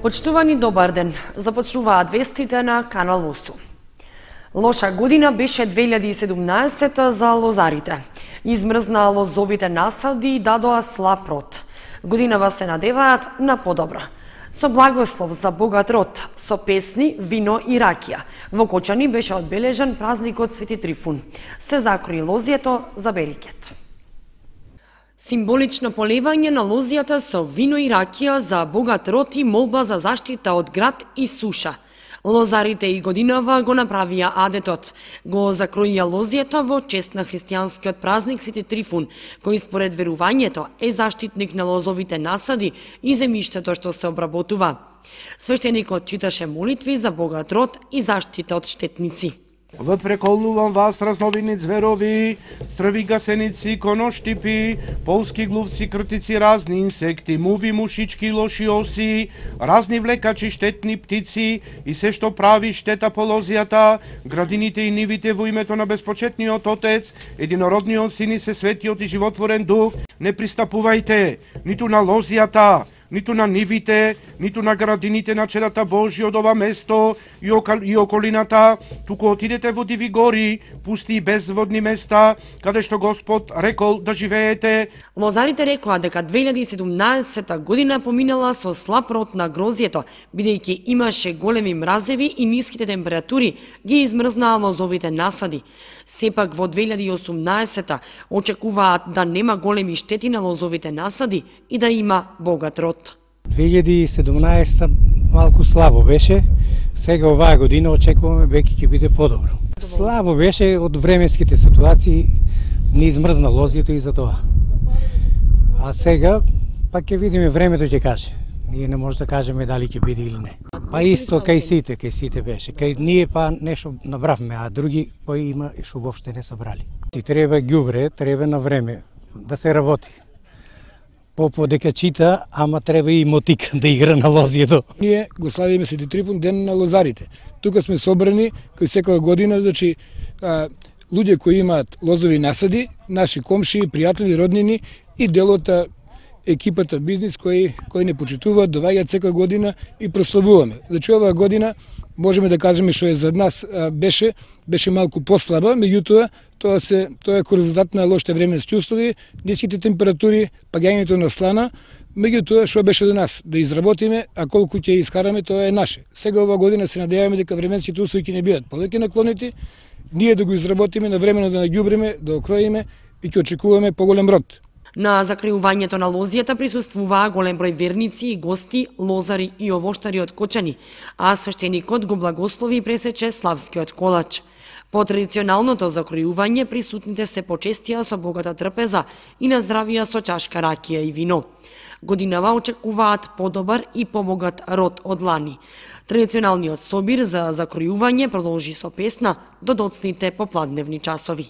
Почитувани, добар ден. Започнуваат вестите на Канал 8. Лоша година беше 2017 за лозарите. Измрзна лозовите насади и дадоа слаб род. Годинава се надеваат на подобро. Со благослов за богат род, со песни, вино и ракија. Во Кочани беше одбележан празникот Свети Трифун. Се закрои лозието за берекет. Символично поливање на лозијата со вино и ракија за богат род и молба за заштита од град и суша. Лозарите и годинава го направија адетот. Го закроија лозијето во чест на христијанскиот празник Свети Трифун, кој според верувањето е заштитник на лозовите насади и земјиштето што се обработува. Свештеникот читаше молитви за богат род и заштита од штетници. Преколнувам вас, разновидни зверови, стрви гасеници, коноштипи, полски глувци, кртици, разни инсекти, муви, мушички, лоши оси, разни влекачи, штетни птици и се што прави штета по лозијата, градините и нивите во името на безпочетниот Отец, единородниот Син и се светиот и животворен Дух, не пристапувајте ниту на лозијата, ниту на нивите, ниту на градините на черата Божи од ова место и околината, туку отидете во диви гори, пусти и безводни места, каде што Господ рекол да живеете. Лозарите рекоа дека 2017 година поминала со слаб род на грозјето, бидејќи имаше големи мразеви и ниските температури ги измрзнаа лозовите насади. Сепак во 2018 очекуваат да нема големи штети на лозовите насади и да има богат род. 2017 малку слабо беше, сега оваа година очекуваме веќе ќе биде подобро. Слабо беше од временските ситуации, не измрзна лозието и за тоа. А сега пак ќе видиме, времето ќе каже. Ние не може да кажеме дали ќе биде или не. Па исто кај сите беше. Кај ние па нешто набравме, а други па има што воопште не собрали. Ти треба ѓубре, треба на време да се работи. Попо дека чита, ама треба и мотик да игра на лозието. Ние го славиме Свети Трифун, ден на лозарите. Тука сме собрани кој секоја година, значи луѓе кои имаат лозови насади, наши комши, пријатели, роднини и делота екипата бизнис кои не почитуваат, доваѓаат секоја година и прославуваме. Значи оваа година можеме да кажеме што е за нас беше малку послаба, меѓутоа тоа е резултат на лошите временски услови, ниските температури, паѓањето на слана, меѓутоа што беше до нас да изработиме, а колку ќе искараме тоа е наше. Сега оваа година се надеваме дека временските услови ќе не бидат повеќе наклонети, ние да го изработиме, навремено да наѓубриме, да окроиме и ќе очекуваме поголем род. На закриувањето на лозијата присуствуваа голем број верници и гости, лозари и овоштари од Кочани, а свештеникот го благослови и пресече славскиот колач. По традиционалното закројување присутните се почестија со богата трпеза и наздравија со чашка ракија и вино. Годинава очекуваат подобар и побогат род од лани. Традиционалниот собир за закројување продолжи со песна до доцните попладневни часови.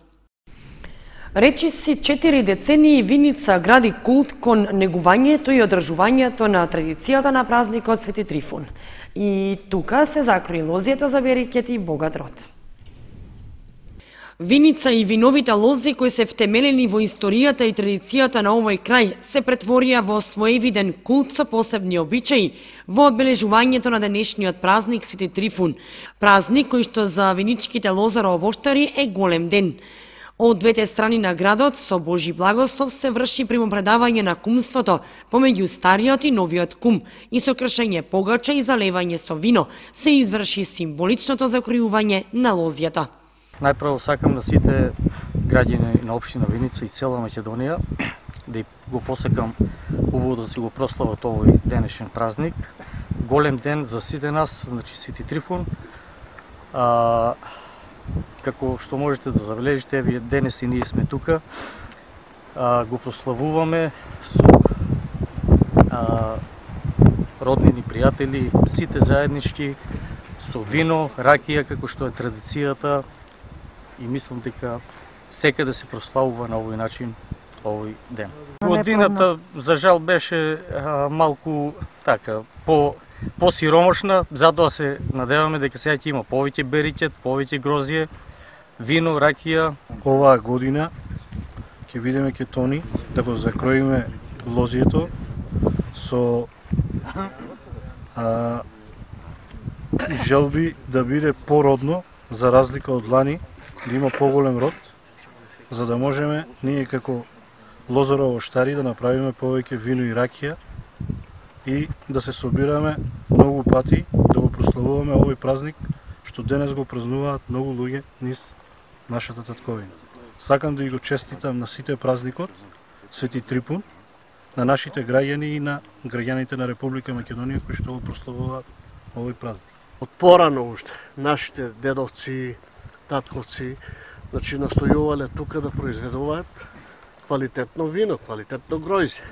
Речиси 4 децении Виница гради култ кон негувањето и одржувањето на традицијата на празникот Свети Трифун. И тука се закрои лозието за берекет и богат род. Виница и виновите лози кои се втемелени во историјата и традицијата на овој крај се претворија во своевиден култ со посебни обичаи во одбележувањето на денешниот празник Свети Трифун. Празник кој што за виничките лозаро-овоштари е голем ден. Од двете страни на градот со Божи благослов се врши примопредавање на кумството помеѓу стариот и новиот кум и со кршење погача и залевање со вино се изврши символичното закројување на лозијата. Најпрво сакам да сите граѓани на општина Виница и цела Македонија да го посекам убаво да си го прослават овој денешен празник. Голем ден за сите нас, значи Свети Трифун. Како што можете да забележите, еве денес и ние сме тука, го прославуваме со роднини, пријатели, сите заеднички, со вино, ракија, како што е традицијата, и мислам дека секаде се прославува на овој начин овој ден. Годината, за жал, беше малку така, посиромошна, затоа се надеваме дека сега ќе има повеќе берикет, повеќе грозје, вино, ракија. Оваа година ќе бидеме ке Тони да го закроиме лозието со Желби да биде породно, за разлика од лани, да има поголем род, за да можеме ние како лозаро-овоштари да направиме повеќе вино и ракија и да се собираме многу пати, да го прославуваме овој празник, што денес го празнуваат многу луѓе низ нашата татковина. Сакам да ги го честитам на сите празникот, Свети Трифун, на нашите граѓани и на граѓаните на Република Македонија кои што го прославуваат овој празник. Од порано уште, нашите дедовци, татковци, значи настојувале тука да произведуваат квалитетно вино, квалитетно гројзе.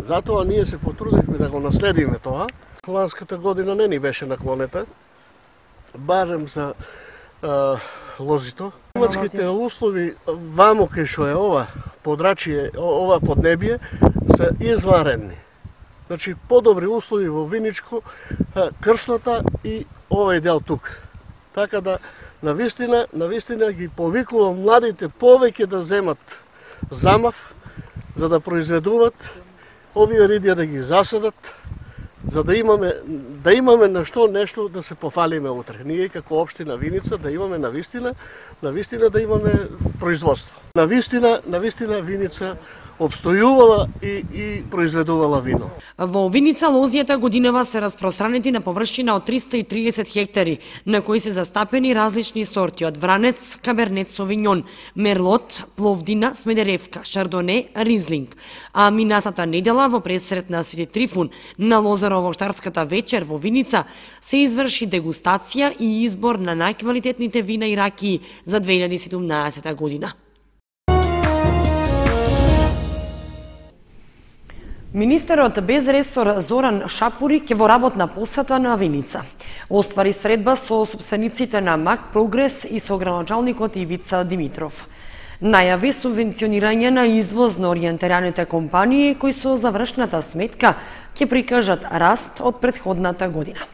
Затоа ние се потрудивме да го наследиме тоа. Ланската година не ни беше наклонета, барем за лозито. Климатските услови вамо кај што е ова подрачје, ова поднебие, се изваредни. Значи, подобри услови во Виничко, Кршната и овој дел тук. Така да, навистина ги повикувам младите повеќе да земат замав, за да произведуват, овие ридија да ги засадат, за да имаме нешто да се пофалиме утре. Ние како општина Виница да имаме навистина да имаме производство. Навистина Виница обстојувала и произведувала вино. Во Виница лозијата годинава се распространети на површина од 330 хектари, на кои се застапени различни сорти од вранец, кабернет совиньон, мерлот, пловдина, смедеревка, шардоне, ризлинг. А минатата недела во пресрет на Свети Трифун на лозаро-овоштарската вечер во Виница се изврши дегустација и избор на најквалитетните вина и ракии за 2017 година. Министерот без ресор Зоран Шапури ќе во работна посета на Виница. Оствари средба со собствениците на Мак Прогрес и со градоначалникот Ивица Димитров. Најави субвенционирање на извоз на ориентираните компании кои со завршната сметка ќе прикажат раст од претходната година.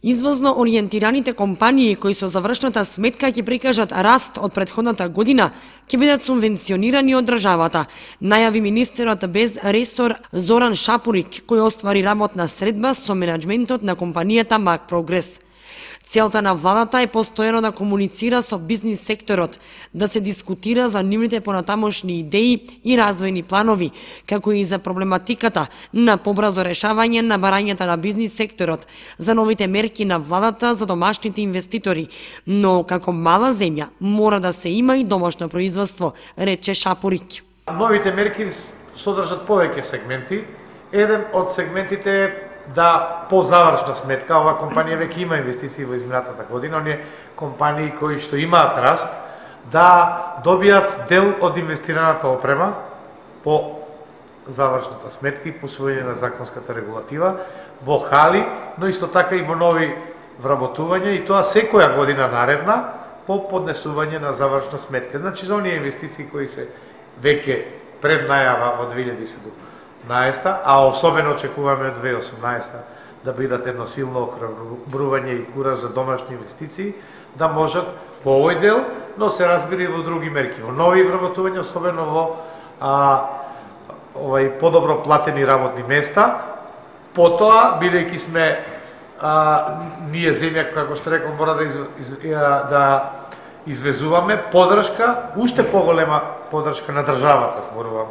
Извозно ориентираните компании кои со завршната сметка ќе прикажат раст од претходната година ќе бидат субвенционирани од државата, најави министерот без ресор Зоран Шапурик, кој оствари работна средба со менаџментот на компанијата Мак Прогрес. Целта на владата е постојано да комуницира со бизнис секторот, да се дискутира за нивните понатамошни идеи и развојни планови, како и за проблематиката на побрзо решавање на барањата на бизнис секторот, за новите мерки на владата за домашните инвеститори, но како мала земја мора да се има и домашно производство, рече Шапурик. Новите мерки содржат повеќе сегменти. Еден од сегментите е да по завршна сметка, ова компанија веќе има инвестиции во изминатата година, оние компании кои што имаат раст, да добијат дел од инвестираната опрема по завршната сметка и по усвојање на законската регулатива во хали, но исто така и во нови вработувања, и тоа секоја година наредна по поднесување на завршна сметка. Значи, за оние инвестиции кои се веќе пред најава во 2017, а особено очекуваме од 2018 да бидат едно силно охрабрување и кураж за домашни инвестиции, да можат во овој дел, но се разбира и во други мерки, во нови вработувања, особено во подобро платени работни места. Потоа, бидејќи сме ние земја, како што реков, мора да извезуваме поддршка, уште поголема поддршка на државата, зборувам,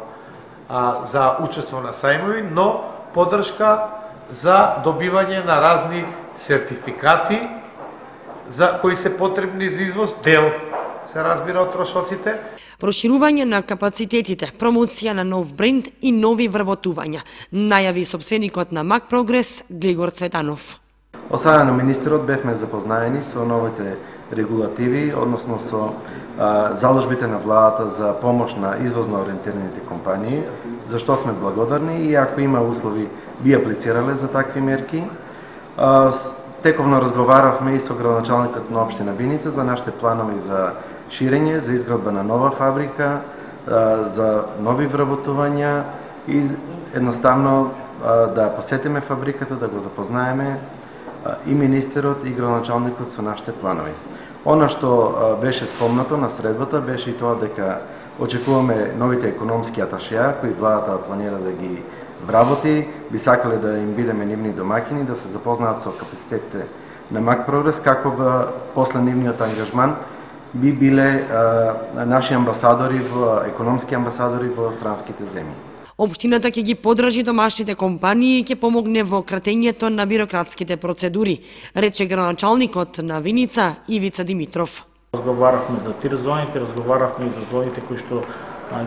за учество на сајмови, но поддршка за добивање на разни сертификати за кои се потребни за извоз, дел се разбира од трошоците. Проширување на капацитетите, промоција на нов бренд и нови вработувања, најави собственикот на Мак Прогрес Глигор Цветанов. Од страна на министерот бевме запознаени со новите регулативи, односно со заложбите на владата за помош на извозно ориентираните компании, за што сме благодарни и ако има услови би аплицирале за такви мерки. Тековно разговаравме и со градоначалникот на општина Виница за нашите планови за ширење, за изградба на нова фабрика, за нови вработувања и едноставно да посетиме фабриката, да го запознаеме и министерот и градоначалникот со нашите планови. Она што беше спомнато на средбата беше и тоа дека очекуваме новите економски аташеа кои владата планира да ги вработи, би сакале да им бидеме нивни домаќини, да се запознаат со капацитетите на МАК Прогрес, како би после нивниот ангажман би биле наши амбасадори, економски амбасадори во странските земји. Општината ќе ги подржи домашните компании и ќе помогне во кратењето на бирократските процедури, рече градоначалникот на Виница Ивица Димитров. Разговаравме за тир зоните, разговаравме и за зоните кои што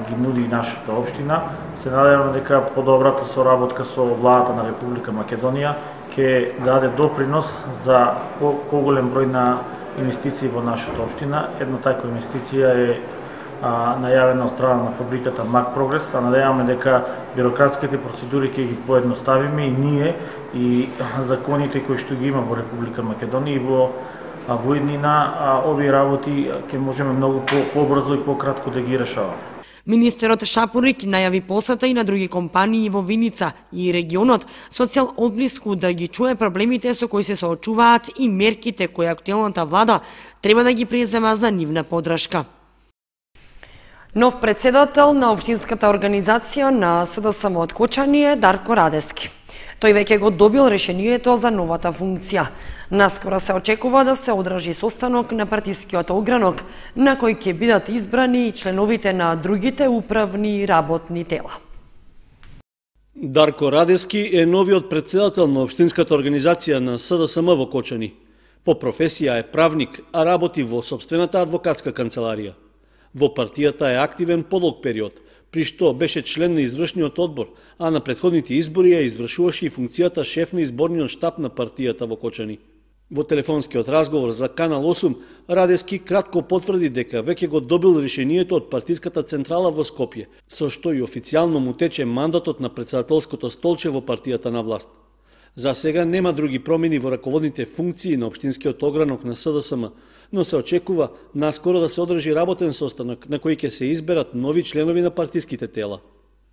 ги нуди нашата општина. Се надевам дека подобрата соработка со владата на Република Македонија ќе даде допринос за поголем број на инвестиции во нашата општина. Една таква инвестиција е најавена од страна на фабриката МАК Прогрес, а надеваме дека бирократските процедури ќе ги поедноставиме и ние и законите кои што ги има во Република Македонија и во иднина овие работи ќе можеме многу побрзо и пократко да ги решаваме. Министерот Шапурик најави посета и на други компании во Виница и регионот со цел одблиску да ги чуе проблемите со кои се соочуваат и мерките кои актуелната влада треба да ги презема за нивна подршка. Нов председател на општинската организација на СДСМ од Кочани е Дарко Радески. Тој веќе го добил решението за новата функција. Наскоро се очекува да се одржи состанок на партискиот огранок, на кој ќе бидат избрани и членовите на другите управни и работни тела. Дарко Радески е новиот председател на општинската организација на СДСМ во Кочани. По професија е правник, а работи во сопствената адвокатска канцеларија. Во партијата е активен подолг период, при што беше член на извршниот одбор, а на претходните избори ја извршуваше и функцијата шеф на изборниот штаб на партијата во Кочани. Во телефонскиот разговор за Канал 8, Радески кратко потврди дека веќе го добил решението од партиската централа во Скопје, со што и официјално му тече мандатот на председателското столче во партијата на власт. За сега нема други промени во раководните функции на општинскиот огранок на СДСМ, но се очекува наскоро да се одржи работен состанок на кој ќе се изберат нови членови на партиските тела.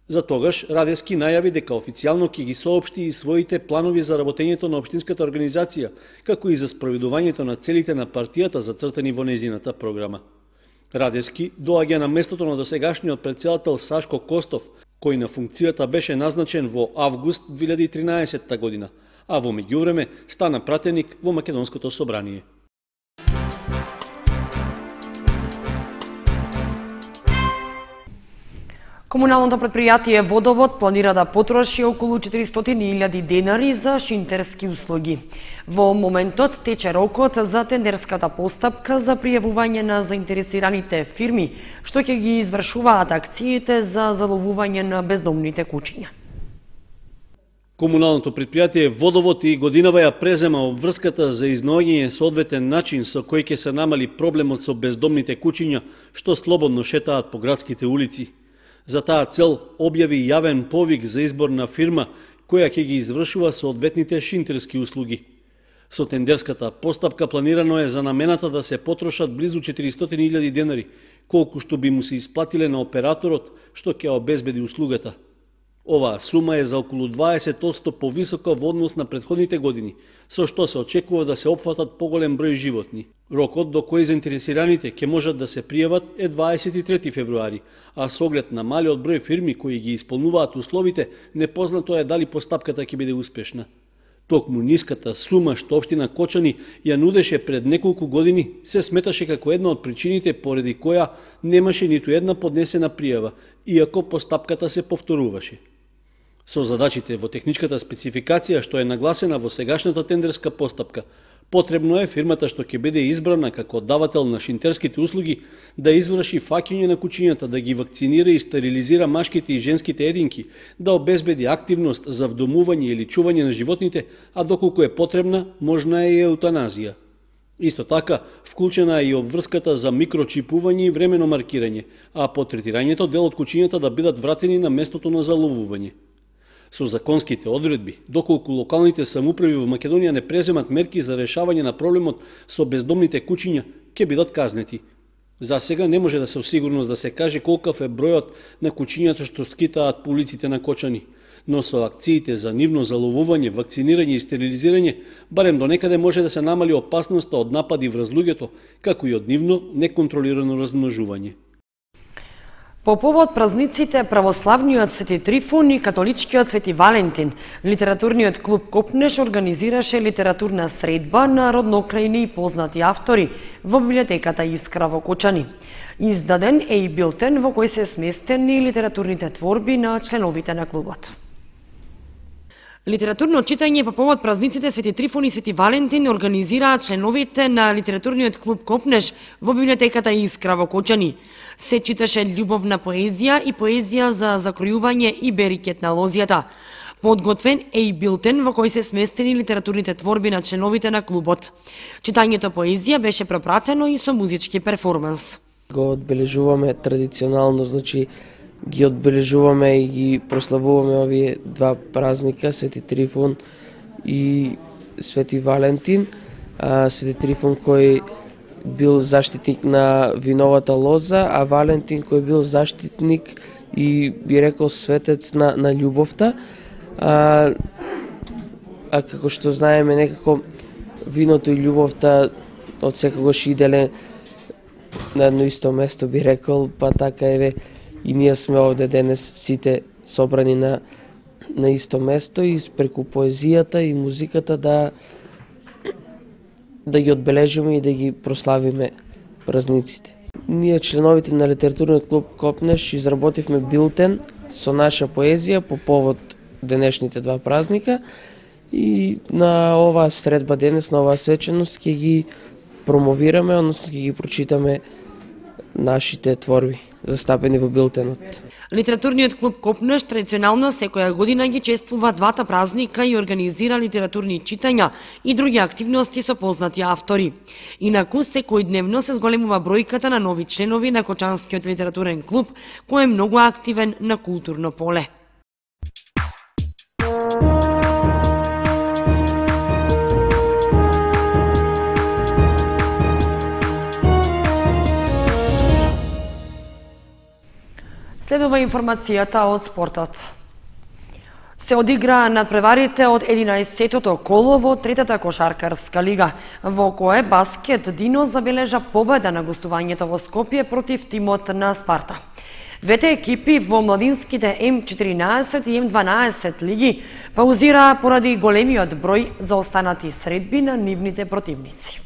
За тогаш Радески најави дека официјално ќе ги соопшти и своите планови за работењето на општинската организација, како и за спроведувањето на целите на партијата зацртани во нејзината програма. Радески доаѓа на местото на досегашниот председател Сашко Костов, кој на функцијата беше назначен во август 2013 година, а во меѓувреме стана пратеник во Македонското собрание. Комуналното претпријатие Водовод планира да потроши околу 400.000 денари за шинтерски услуги. Во моментот тече рокот за тендерската постапка за пријавување на заинтересираните фирми, што ќе ги извршуваат акциите за заловување на бездомните кучиња. Комуналното претпријатие Водовод и годинава ја презема обврската за изнаоѓање соодветен начин со кој ќе се намали проблемот со бездомните кучиња што слободно шетаат по градските улици. За таа цел објави јавен повик за избор на фирма која ќе ги извршува соодветните шинтерски услуги. Со тендерската постапка планирано е за намената да се потрошат близу 400.000 денари, колку што би му се исплатиле на операторот што ќе обезбеди услугата. Оваа сума е за околу 20% повисока во однос на претходните години, со што се очекува да се опфатат поголем број животни. Рокот до кој заинтересираните ќе можат да се пријават е 23 февруари, а со оглед на малиот број фирми кои ги исполнуваат условите, непознато е дали постапката ќе биде успешна. Токму ниската сума што општина Кочани ја нудеше пред неколку години се сметаше како една од причините поради која немаше ниту една поднесена пријава, иако постапката се повторуваше. Со задачите во техничката спецификација што е нагласена во сегашната тендерска постапка, потребно е фирмата што ќе биде избрана како давател на шинтерските услуги да изврши фаќање на кучињата, да ги вакцинира и стерилизира машките и женските единки, да обезбеди активност за вдомување или чување на животните, а доколку е потребна, можна е и еутаназија. Исто така, вклучена е и обврската за микрочипување и времено маркирање, а по третирањето дел од кучињата да бидат вратени на местото на заловување. Со законските одредби, доколку локалните самоуправи во Македонија не преземат мерки за решавање на проблемот со бездомните кучиња, ќе бидат казнети. За сега не може да се осигурност да се каже колкав е бројот на кучињата што скитаат по улиците на Кочани, но со акциите за нивно заловување, вакцинирање и стерилизирање, барем до некаде може да се намали опасноста од напади врз луѓето, како и од нивно неконтролирано размножување. По повод празниците православниот Свети Трифун и католичкиот Свети Валентин, литературниот клуб Копнеш организираше литературна средба на роднокрајни и познати автори во библиотеката Искра во Кочани. Издаден е и билтен во кој се сместени литературните творби на членовите на клубот. Литературно читање по повод празниците Свети Трифун и Свети Валентин организираат членовите на литературниот клуб Копнеш во библиотеката Искра во Кочани. Се читаше љубовна поезија и поезија за закројување и берикет на лозјата. Подготвен е и билтен во кој се сместени литературните творби на членовите на клубот. Читањето поезија беше пропратено и со музички перформанс. Го одбележуваме традиционално, значи ги одбележуваме и ги прославуваме овие два празника, Свети Трифун и Свети Валентин. Свети Трифун кој бил заштитник на виновата лоза, а Валентин кој бил заштитник и би рекол светец на љубовта. А како што знаеме, некако виното и љубовта од секогаш иделе на едно исто место, би рекол, па така еве и ние сме овде денес сите собрани на исто место и преку поезијата и музиката да ги одбележиме и да ги прославиме празниците. Ние, членовите на литературниот клуб Копнеш, изработивме билтен со наша поезија по повод денешните два празника и на оваа средба денес, на оваа свеченост ќе ги промовираме, односно ќе ги прочитаме нашите творби застапени во билтенот. Литературниот клуб Копнеш традиционално секоја година ги чествува двата празника и организира литературни читања и други активности со познати автори. Инаку секојдневно се зголемува бројката на нови членови на Кочанскиот литературен клуб, кој е многу активен на културно поле. Следува информацијата од спортот. Се одигра надпреварите од 11-тото коло во третата кошаркарска лига, во кое Баскет Дино забележа победа на гостувањето во Скопје против тимот на Спарта. Двете екипи во младинските М14 и М12 лиги паузираа поради големиот број заостанати средби на нивните противници.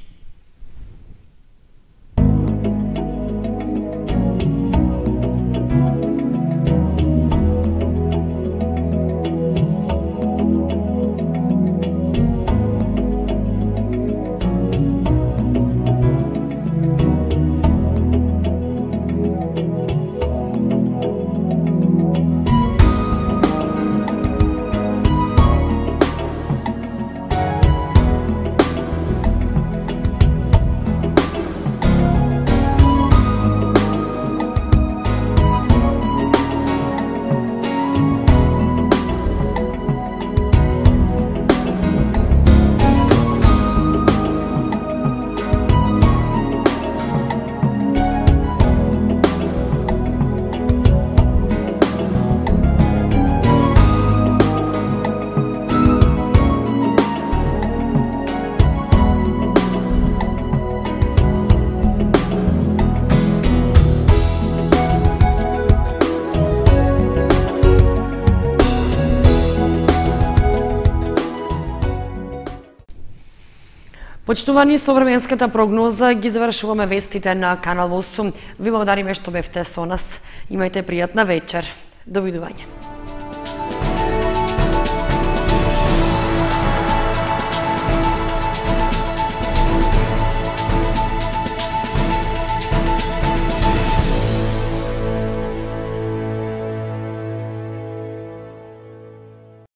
Почитувани, со временската прогноза ги завршуваме вестите на Канал 8. Ви благодариме што бевте со нас. Имајте пријатна вечер. Довидување.